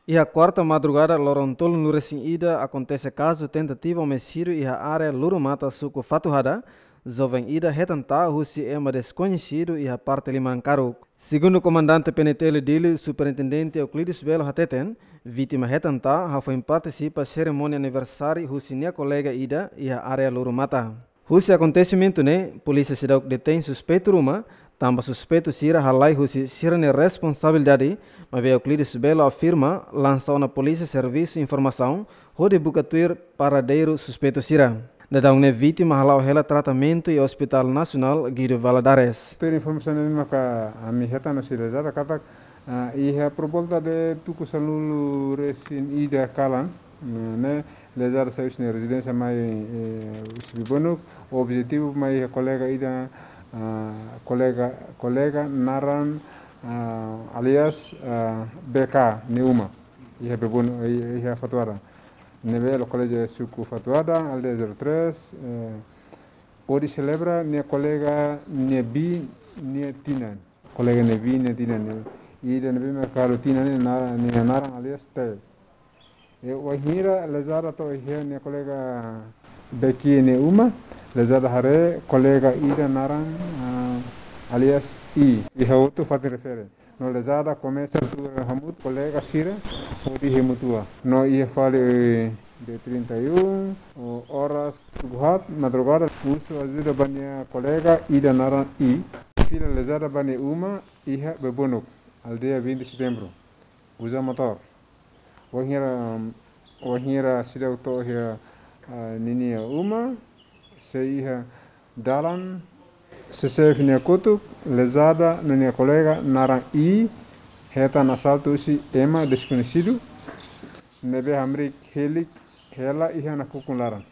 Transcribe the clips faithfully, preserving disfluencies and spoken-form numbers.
Iha kuarta madrugada loron tolunulu-resin-ida akontese kazu tentativa omisídiu iha área Lurumata, suku Fatuhada. Joven ida hetan ta'a husi ema deskoñesidu iha parte liman karuk. Segundu Komandante P N T L Dili, Superintendente Euclides Belo hateten, vítima hetan ta'a hafoin partisipa serimónia aniversáriu husi nia kolega ida iha área Lurumata. Husi akontesimentu ne'e, polísia seidauk detein suspeitu ruma, tanba suspeitu sira halai husi sira-nia responsabilidade, maibé Euclides Belo afirma, lansa ona polísia servisu informasaun hodi buka tuir paradeiru suspeitu sira. Daudaun ne'e vítima hala'o hela tratamentu iha Hospital Nasionál Guido Valadares. Tuir informasaun ne'ebé maka ami hetan no sira jada katak, ah, iha por volta de tuku sanulu-resin-ida kalan, ne'e, ne'e lezada sai husi nia rezidénsia mai, eh, husi Bebonuk, objetivu mai iha kolega ida, ah, kolega, kolega naran, ah, alias, ah, B K nia uma. Iha Bebonuk, iha, iha Fatuhada. Ne'ebé lokaliza suku Fatuhada, aldeia zero três, eh, hodi selebra nia kolega nia biin nia tinan. Kolega nia biin nia tinan ne'e. Ida ne'ebé mak halo tinan ne'e na-, nia naran alias T. E wainhira lezada to'o iha nia kolega B K nia uma, lezada haree kolega ida naran, ah, alias I. Iha hotu fatin refere. No lezada komesa tuur hamutuk kolega sira hodi hemu tua. No iha fali, eh, dia trinta e um, o, oras tuku haat madrugada, husu ajuda ba nia kolega ida naran I. Fila lezada ba nia uma iha Bebonuk, aldeia vinte de Setembro. Uza motór. Wainhira, wainhira seidauk to'o iha, ah, ninia uma, sei iha dalan, C C F nia kotuk, lezada no nia kolega naran I hetan asaltu husi ema deskoñesidu, ne'ebé hamriik hilik hela iha nakukun laran.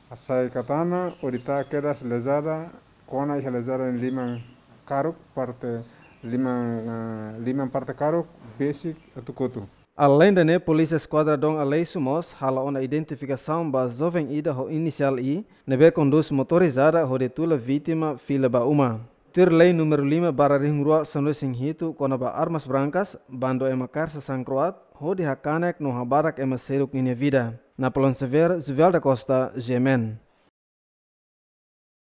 Hasai katana hodi ta'a kedas lezada, kona iha lezada nia liman karuk parte liman, ah, liman parte karuk besik atu kotu. Aleinde ne'e, polísia Eskuadra Dom Aleixo mós hala'o ona identifikasaun ba joven ida ho inisiál I, ne'ebé kondús motorizada hodi tula vítima fila ba uma. Tuir lei númeru lima barra rihun rua sanulu-resin-hitu kona-ba armas brankas, bandu ema Karsa sankroat hodi hakanek no habadak ema seluk ninia vida. Napoleão Xavier, Juvel da Costa, G M N.